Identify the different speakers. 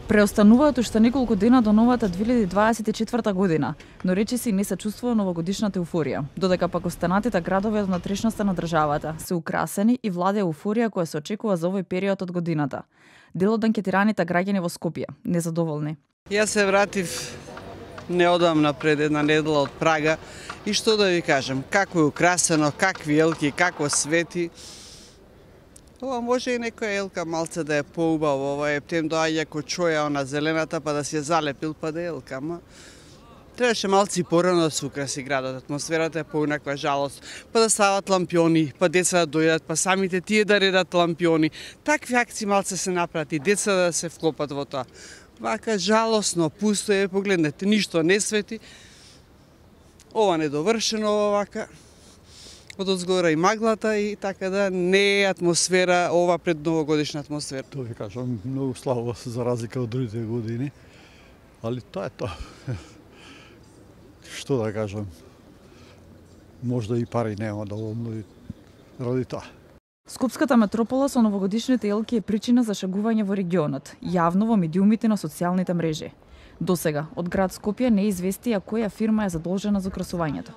Speaker 1: Преостануваат уште неколку дена до новата 2024 година, но речиси не се чувствува новогодишната еуфорија, додека пак останатите градови од внатрешноста на државата се украсени и владее еуфорија која се очекува за овој период од годината. Дел од анкетираните граѓани во Скопје незадоволни.
Speaker 2: Јас се вратив неодамна пред една недела од Прага и што да ви кажам, како е украсено, какви елки, како свети. Ова може и некоја елка малце да е поубаво, ова ептем доаѓа ко чоја она зелената па да си ја залепил па да е елка, ама требаше малци порано да се украси градот, атмосферата е поинаква жалост, па да стават лампиони, па деца да дојдат, па самите тие да редат лампиони. Такви акции малце се направат, деца да се вклопат во тоа. Вака жалосно, пусто е, погледнете, ништо не свети. Ова недовршено, ова вака. Одозгора и маглата и така да не е атмосфера, ова пред новогодишна атмосфера.
Speaker 3: Тоа ви кажам, многу слабо за разлика од другите години, али тоа е тоа. Што да кажам, можда и пари нема доволно ради тоа.
Speaker 1: Скопската метропола со новогодишните елки е причина за шегување во регионот, јавно во медиумите на социјалните мрежи. Досега, од град Скопје не известија која фирма е задолжена за украсувањето.